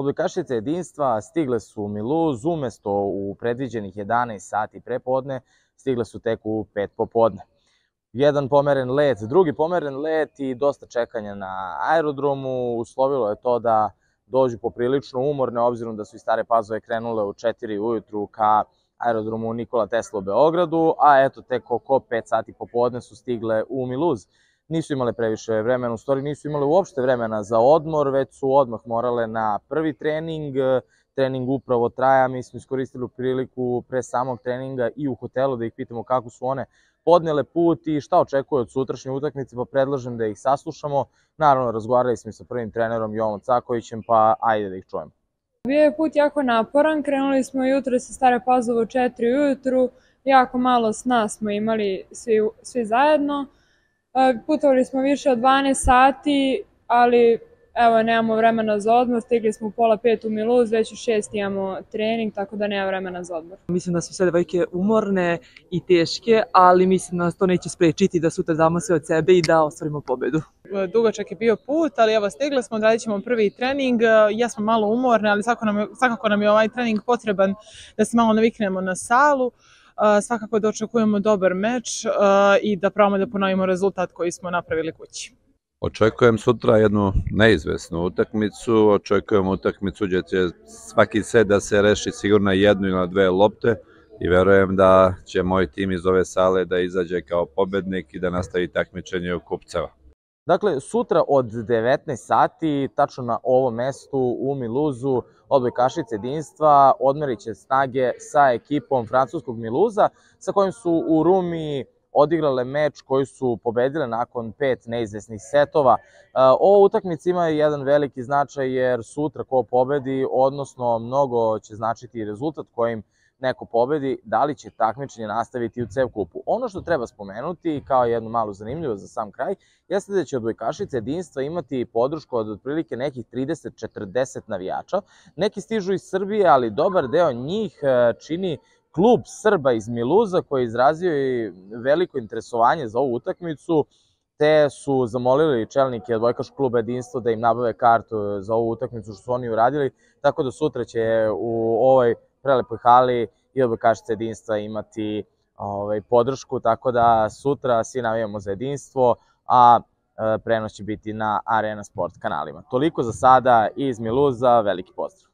Odbojkašice jedinstva stigle su u Miluz, umesto u predviđenih 11 sati prepodne, stigle su tek u 5 popodne. Jedan pomeren let, drugi pomeren let i dosta čekanja na aerodromu uslovilo je to da dođu poprilično umorne, obzirom da su iz Stare Pazove krenule u 4 ujutru ka aerodromu Nikola Tesla u Beogradu, a eto tek oko 5 sati popodne su stigle u Miluz. Nisu imale previše vremena, u stvari nisu imale uopšte vremena za odmor, već su odmah morale na prvi trening. Trening upravo traja, mi smo iskoristili priliku pre samog treninga i u hotelu da ih pitamo kako su one podnele put i šta očekuju od sutrašnje utakmice, pa predlažem da ih saslušamo. Naravno, razgovarali smo sa prvim trenerom Jovom Cakovićem, pa ajde da ih čujemo. Bio je put jako naporan, krenuli smo jutro sa Stare Pazove u 4 ujutru, jako malo sna smo imali svi zajedno. Putovali smo više od 12 sati, ali evo nemamo vremena za odmor, stigli smo u 4:30 u Miluz, već u 6 imamo trening, tako da nema vremena za odmor. Mislim da su sve devojke umorne i teške, ali mislim da nas to neće sprečiti da sutra damo sve od sebe i da ostvarimo pobedu. Dugačak je bio put, ali evo stigli smo, odradit ćemo prvi trening. Jesmo malo umorne, ali svakako nam je ovaj trening potreban da se malo naviknemo na salu. Svakako da očekujemo dobar meč i da probamo da ponovimo rezultat koji smo napravili kući. Očekujem sutra jednu neizvesnu utakmicu, očekujem utakmicu gdje će svaki set da se reši sigurno jednu ili dve lopte i verujem da će moj tim iz ove sale da izađe kao pobednik i da nastavi takmičenje u kupceva. Dakle, sutra od 19 sati, tačno na ovom mestu u Miluzu, odbojkašice jedinstva odmerit će snage sa ekipom francuskog Miluza, sa kojim su u Rumi odigrale meč koji su pobedile nakon 5 neizvesnih setova. Ova utakmica ima jedan veliki značaj jer sutra ko pobedi, odnosno mnogo će značiti rezultat kojim neko pobedi, da li će takmičenje nastaviti u CEV kupu. Ono što treba spomenuti kao jednu malu zanimljivost za sam kraj, jeste da će odbojkašice jedinstva imati podršku od otprilike nekih 30-40 navijača. Neki stižu iz Srbije, ali dobar deo njih čini klub Srba iz Miluza koji je izrazio i veliko interesovanje za ovu utakmicu, te su zamolili čelnike odbojkaškog kluba jedinstva da im nabave kartu za ovu utakmicu, što su oni uradili, tako da sutra će u ovoj prelepoj hali i odbojkašice jedinstva imati podršku, tako da sutra svi navijamo za jedinstvo, a prenos će biti na Arena Sport kanalima. Toliko za sada iz Miluza, veliki pozdrav!